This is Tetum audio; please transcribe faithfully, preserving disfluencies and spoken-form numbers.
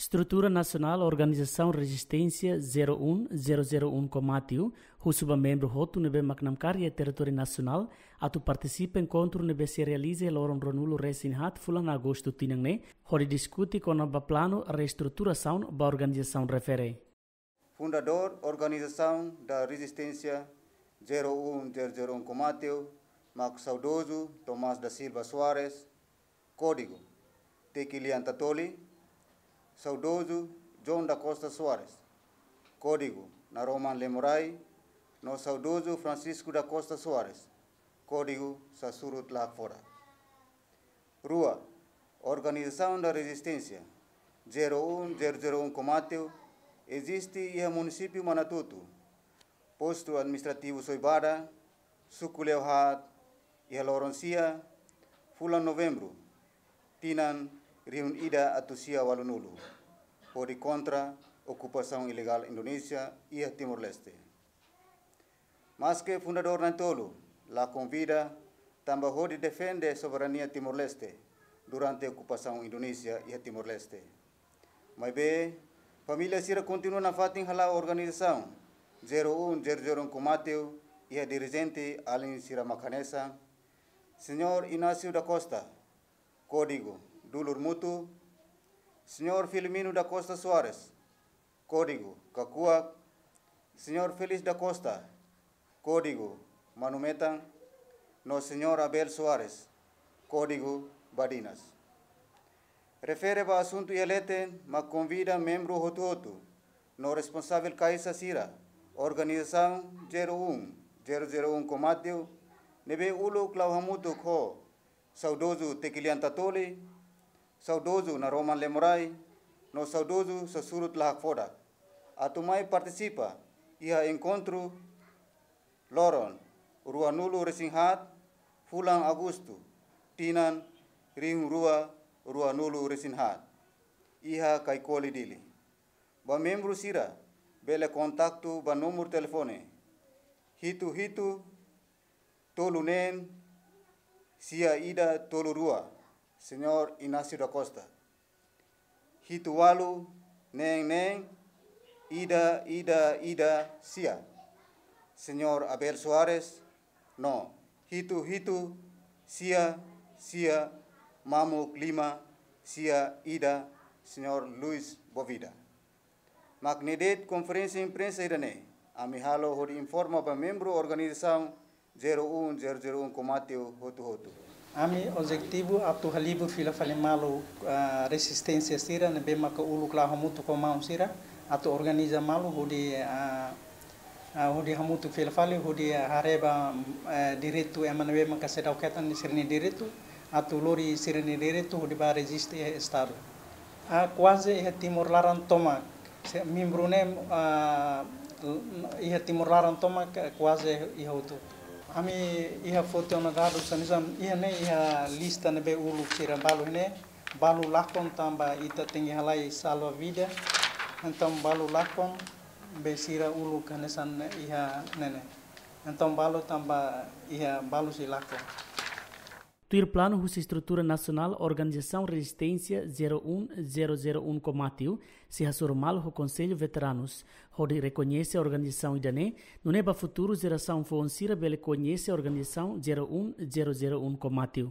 Estrutura Nasionál Organizasaun Rezisténsia zero um zero zero um Komatiw husu ba membru hotu ne'ebé mak namkari iha territóriu nasionál atu partisipa enkontru ne'ebé sei realiza iha loron ruanulu resin haat fulan Agostu tinan ne'e, hodi diskute kona-ba planu reestruturasaun ba organizasaun refere. Fundadór Organização da Resistência zero um zero zero um Komatiw mak saudozu Tomás da Silva Soares, kódigu Tekilian Tatoli, saudozu João da Costa Soares, kódigu Naroman Lemorai, no saudozu Francisco da Costa Soares, kódigu Sasurut La Hakfodak. Rua, Organização da Resistência zero um zero zero um Komatiw eziste iha munisípiu Manatuto, postu administrativu Soibada, suku Leohat, iha loron sia, fulan Novembru, tinan rihun ida atus sia ualunulu, hodi kontra okupasaun ilegál Indonézia iha Timor-Leste. Maske fundadór na'in-tolu la konvida tanba hodi defende soberania Timor-Leste durante okupasaun Indonézia iha Timor-Leste. Maibé, família sira kontinua nafatin hala'o organizasaun zero um zero zero um Komatiw iha dirijente alin sira mak hanesan: Señór Inácio da Costa, kódigu Dulur Mutu, Señór Filomeno da Costa Soares, kódigu Kakuak, Señór Félix da Costa, kódigu Manu Metan, no Señór Abel Soares, kódigu Badinas. Refere ba asuntu iha leten mak konvida membru hotu-hotu no responsavel kaixa sira Organizasaun zero um zero zero um Komatiw ne'ebé uluk la'o hamutuk ho saudozu Tekilian Tatoli, saudozu Naroman Lemorai, no saudozu Sasurut La Hakfodak, atu mai partisipa iha enkontru loron ruanulu resin haat fulan Agostu, tinan rihun rua ruanulu resin haat, iha Kaikoli, Dili. Ba membru sira bele kontaktu ba númeru telefone hitu hitu tolu neen sia ida tolu rua, Señór Inácio da Costa. Hitu ualu neen neen ida ida ida sia, Señór Abel Soares, no hitu hitu sia sia mamuk lima sia ida, Señór Luis Bovida. Mak ne'e de'it konferénsia imprensa ida-ne'e ami halo hodi informa ba membru organizasaun zero um zero zero um Komatiw hotu-hotu. Ami objetivu atu halibur fila fali malu, ah, rezisténsia sira ne'ebé maka uluk la'o hamutuk ho maun sira atu organiza malu hodi, ah, ah, hodi hamutuk fila fali hodi haree ba, eh, direitu ema ne'ebé maka seidauk hetan sira-nia direitu, atu lori sira-nia direitu hodi bá rejista iha estadu. Ah, kuaze iha Timor laran tomak. Se membru ne'e, ah, iha Timor laran tomak, eh, kuaze iha hotu. Ami iha foti ona dadus hanesan iha ne'e iha lista ne'ebé uluk sira balu ne'e, balu lakon tanba ita tenke halai salva vida. Entaun balu lakon be sira uluk hanesan iha ne'e ne'e. Entaun balu tanba iha balu sei lakon. Tuir planu husi estrutura nasionál Organizasaun Rezisténsia zero um zero zero um Komatiw sei hasoru malu ho Konsellu Veteranus, hodi rekoñese organizasaun ida-ne'e, nune'e ba futuru jerasaun foun sira bele koñese Organizasaun zero um zero zero um Komatiw.